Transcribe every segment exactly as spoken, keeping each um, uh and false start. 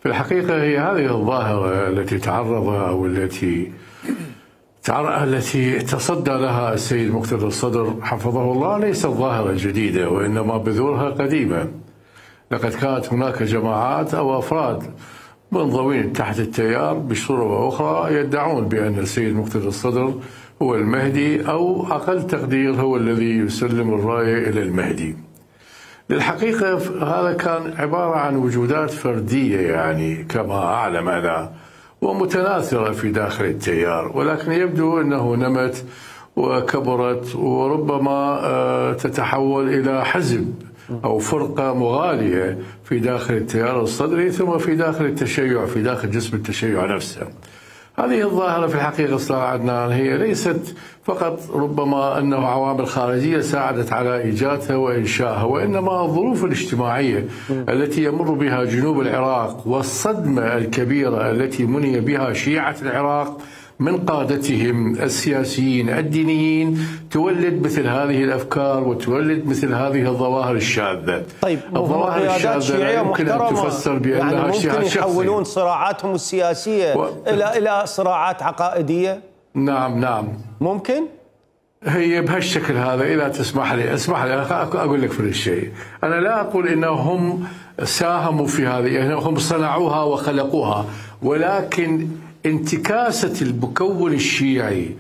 في الحقيقة هي هذه الظاهرة التي تعرض أو التي التي تصدى لها السيد مقتدى الصدر حفظه الله ليست ظاهرة جديدة، وإنما بذورها قديمة. لقد كانت هناك جماعات أو أفراد منضوين تحت التيار بصورة وأخرى يدعون بأن السيد مقتدى الصدر هو المهدي، أو أقل تقدير هو الذي يسلم الراية إلى المهدي. للحقيقة هذا كان عبارة عن وجودات فردية، يعني كما أعلم أنا، ومتناثرة في داخل التيار، ولكن يبدو أنه نمت وكبرت وربما تتحول إلى حزب أو فرقة مغالية في داخل التيار الصدري، ثم في داخل التشيع، في داخل جسم التشيع نفسه. هذه الظاهرة في الحقيقة أستاذ عدنان هي ليست فقط ربما أنه عوامل خارجية ساعدت على إيجادها وإنشائها، وإنما الظروف الاجتماعية التي يمر بها جنوب العراق والصدمة الكبيرة التي مني بها شيعة العراق من قادتهم السياسيين الدينيين تولد مثل هذه الأفكار وتولد مثل هذه الظواهر الشاذة. طيب، الظواهر الشاذة لا يمكن أن تفسر بأنها يعني ممكن يحولون صراعاتهم السياسية و... إلى إلى صراعات عقائدية؟ نعم نعم ممكن؟ هي بهالشكل هذا. إذا تسمح لي اسمح لي أنا أقول لك في الشيء، أنا لا أقول إنهم ساهموا في هذه، يعني هم صنعوها وخلقوها، ولكن انتكاسة المكون الشيعي،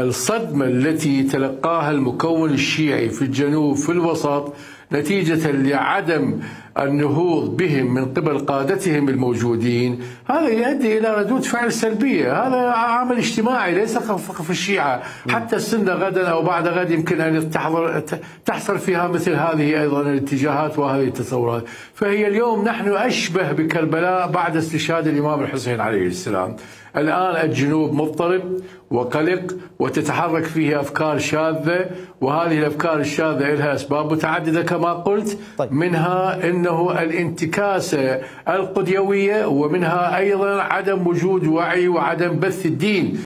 الصدمة التي تلقاها المكون الشيعي في الجنوب في الوسط نتيجة لعدم النهوض بهم من قبل قادتهم الموجودين، هذا يؤدي إلى ردود فعل سلبية. هذا عامل اجتماعي ليس فقط في الشيعة، حتى السنة غدا أو بعد غد يمكن أن تحضر تحصل فيها مثل هذه أيضا الاتجاهات وهذه التصورات. فهي اليوم نحن أشبه بكربلاء بعد استشهاد الإمام الحسين عليه السلام. الآن الجنوب مضطرب وقلق وتتحرك فيه أفكار شاذة، وهذه الأفكار الشاذة لها أسباب متعددة كما قلت. طيب. منها أنه الانتكاسة القديوية، ومنها أيضا عدم وجود وعي وعدم بث الدين